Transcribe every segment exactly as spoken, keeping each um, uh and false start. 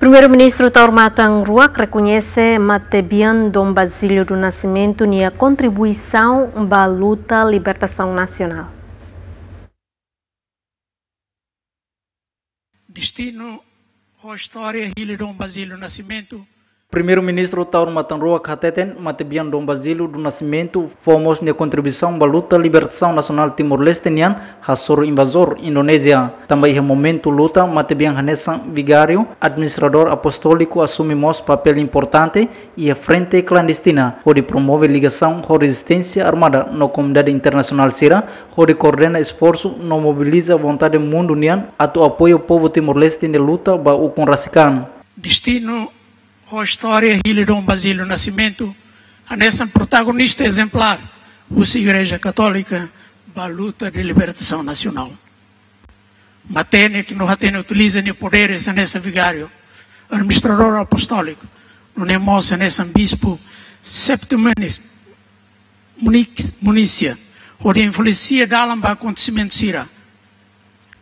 Primeiru-Ministru Taur Matan Ruak rekoñese matebian Dom Basílio do Nascimento nia kontribuisaun ba luta libertasaun nasionál. Destinu ho istória hili Dom Basílio Nascimento. Primeiru-Ministru Taur Matan Ruak hateten matebian Dom Basílio do Nascimento fó mós nia kontribuisaun ba luta libertasaun nasionál Timor-Leste nian hasoru invazór Indonézia. Tanba iha momentu luta matebian hanesan vigáriu, administradór apostóliku asume mós papél importante iha frente klandestina hodi promove ligasaun ho rezisténsia armada no komunidade internasionál sira, hodi koordena esforsu no mobiliza vontade mundu nian atu apoia povu Timor-Leste nia luta ba ukun rasik an. Destinu ho istória hili Dom Basílio Nascimento hanesan protagonista ezemplár husi Igreja Katólika ba luta de libertasaun nasionál. Matenek no hatene utiliza nia poderes hanesan vigáriu, administradór apostóliku, nune'e mós hanesan bispu septimanis munix-, munisia, hodi influensia dalan ba akontesimentu sira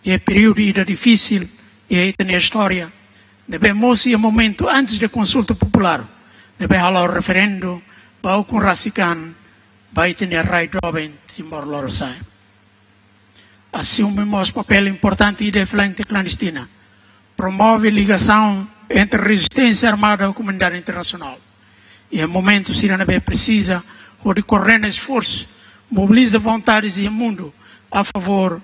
iha períodu ida difisil iha ita-nia istória, ne'ebé mós iha momentu antes de konsulta populár, ne'ebé hala'o referendu ba ukun rasik an ba ita-nia rai doben Timor Lorosa'e. Asume mós papél importante iha frente klandestina, promove ligasaun entre rezisténsia armada ho komunidade internasionál iha momentu sira ne'ebé presiza, hodi koordena esforsu, mobiliza vontades iha mundu a favór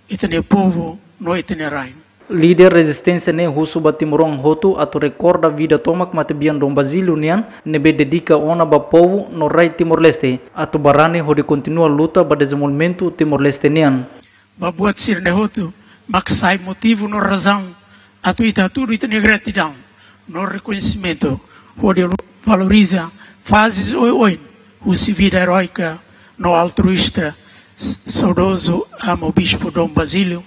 ita-nia povu no ita-nia rai. Líder rezisténsia ne'e husu ba timoroan hotu atu rekorda vida tomak matebian Dom Basílio nian ne'ebé dedika ona ba povu no rai Timor-Leste, atu barani hodi kontinua luta ba dezenvolvimentu Timor-Leste nian. Ba buat sira-ne'e hotu mak sai motivu no razaun atu ita hatudu ita-nia gratidaun no rekoñesimentu hodi valoriza fazes oioin husi vida eróika no altruísta saudozu Amu Bispu Dom Basílio,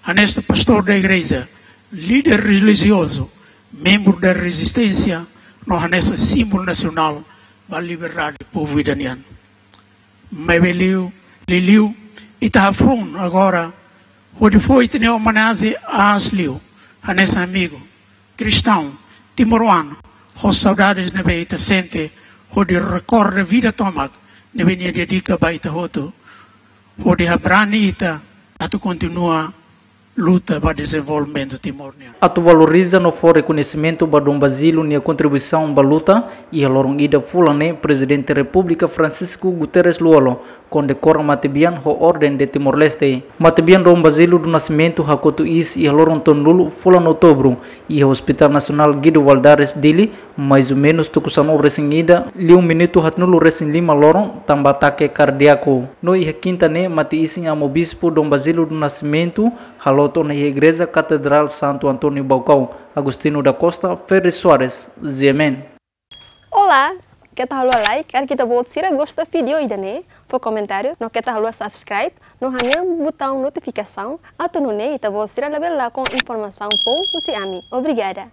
hanesan pastór da igreja, líder relijiozu, membru da rezisténsia, no hanesan símbolu nasionál ba liberdade povu ida nian. Maibé liu, liuliu, ita hafoin agora hodi fó ita-nia omenajen aas liu, hanesan amigu kristaun timoroan, ho saudades ne'ebé ita sente hodi rekorda vida tomak ne'ebé nia dedika ba ita hotu, hodi habrani ita atu kontinua luta ba dezenvolvimentu Timor nian. Atu valoriza no fó rekoñesimentu ba Dom Basílio nia kontribuisaun ba luta, iha loron ida fulan ne'e Prezidente Repúblika Francisco Guterres Lú-Olo kondekora matebian ho Orden de Timor-Leste. Matebian Dom Basílio do Nascimento hakotu iis iha loron tolunulu fulan Outubru iha Hospital Nasionál Guido Valadares, Dili, mais ou menus tuku sanulu-resin-ida liu minutu haatnulu-resin-lima loron tanba atake kardiaku. No iha kinta ne'e mate-isin Amu Bispu Dom Basílio do Nascimento haloot ona iha Igreja Katedrál Santo António Baucau. Agostinho da Costa, Ferri Soares, G M N. Olá, keta haluha like, karik ita-boot sira gosta vídeo ida-ne'e, fó komentáriu, no keta haluha subscribe, no hanehan butaun notifikasaun, atu nune'e ita-boot sira labele lakon informasaun foun husi ami. Obrigada.